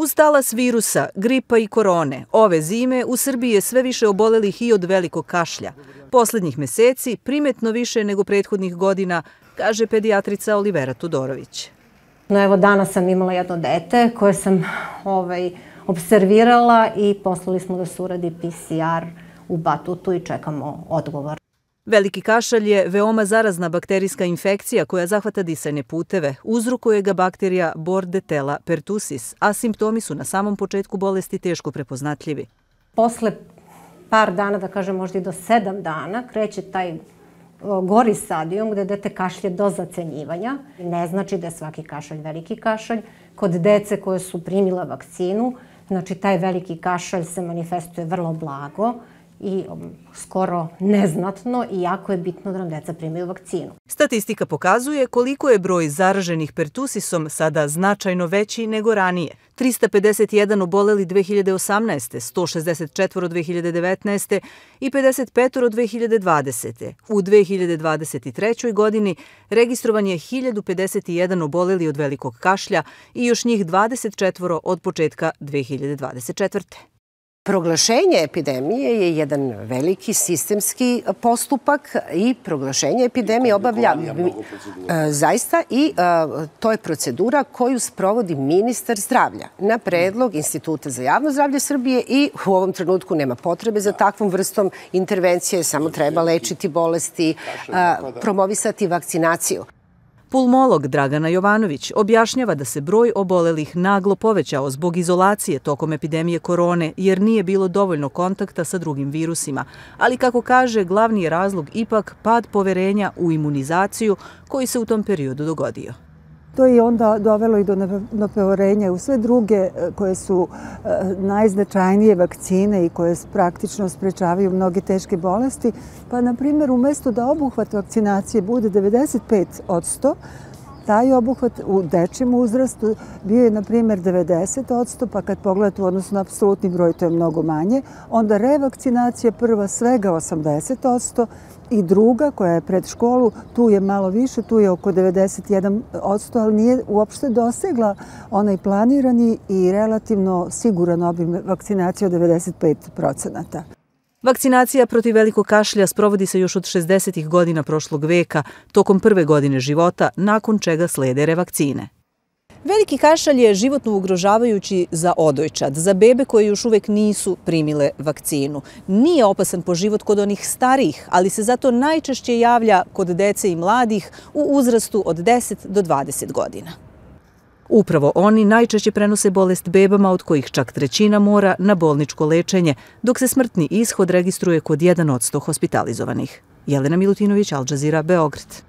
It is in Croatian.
Uz talas virusa, gripa i korone, ove zime u Srbiji je sve više obolelih i od velikog kašlja. Poslednjih meseci primetno više nego prethodnih godina, kaže pedijatrica Olivera Tudorović. Evo, danas sam imala jedno dete koje sam observirala i poslali smo da se uradi PCR u Batutu i čekamo odgovor. Veliki kašalj je veoma zarazna bakterijska infekcija koja zahvata disajne puteve. Uzrokuje ga bakterija Bordetella pertussis, a simptomi su na samom početku bolesti teško prepoznatljivi. Posle par dana, da kažem možda i do 7 dana, kreće taj gori stadijum gde dete kašlje do zacenjivanja. Ne znači da je svaki kašalj veliki kašalj. Kod dece koje su primila vakcinu, znači taj veliki kašalj se manifestuje vrlo blago i skoro neznatno, i jako je bitno da nam deca primaju vakcinu. Statistika pokazuje koliko je broj zaraženih pertusisom sada značajno veći nego ranije. 351 oboleli 2018. 164 2019. i 55 2020. U 2023. godini registrovan je 1051 oboleli od velikog kašlja i još njih 24 od početka 2024. Proglašenje epidemije je jedan veliki sistemski postupak i proglašenje epidemije obavlja zaista, i to je procedura koju sprovodi ministar zdravlja na predlog Instituta za javno zdravlje Srbije, i u ovom trenutku nema potrebe za takvom vrstom intervencije, samo treba lečiti bolesti, promovisati vakcinaciju. Pulmolog Dragana Jovanović objašnjava da se broj obolelih naglo povećao zbog izolacije tokom epidemije korone, jer nije bilo dovoljno kontakta sa drugim virusima. Ali, kako kaže, glavni je razlog ipak pad poverenja u imunizaciju koji se u tom periodu dogodio. To je onda dovelo i do nepoverenja u sve druge koje su najznačajnije vakcine i koje praktično sprečavaju mnoge teške bolesti. Pa, na primjer, umjesto da obuhvat vakcinacije bude 95%, taj obuhvat u dečijem uzrastu bio je, na primjer, 90%, pa kad pogledate u odnosu na apsolutni broj, to je mnogo manje. Onda revakcinacija prva svega 80%, i druga, koja je pred školu, tu je malo više, tu je oko 91%, ali nije uopšte dosegla onaj planirani i relativno siguran obim vakcinacije od 95%. Vakcinacija protiv velikog kašlja sprovodi se još od 60. godina prošlog veka, tokom prve godine života, nakon čega slede revakcine. Veliki kašalj je životno ugrožavajući za odojčad, za bebe koje još uvek nisu primile vakcinu. Nije opasan po život kod onih starijih, ali se zato najčešće javlja kod dece i mladih u uzrastu od 10 do 20 godina. Upravo oni najčešće prenose bolest bebama, od kojih čak trećina mora na bolničko lečenje, dok se smrtni ishod registruje kod 1% hospitalizovanih. Jelena Milutinović, Al Jazeera, Beograd.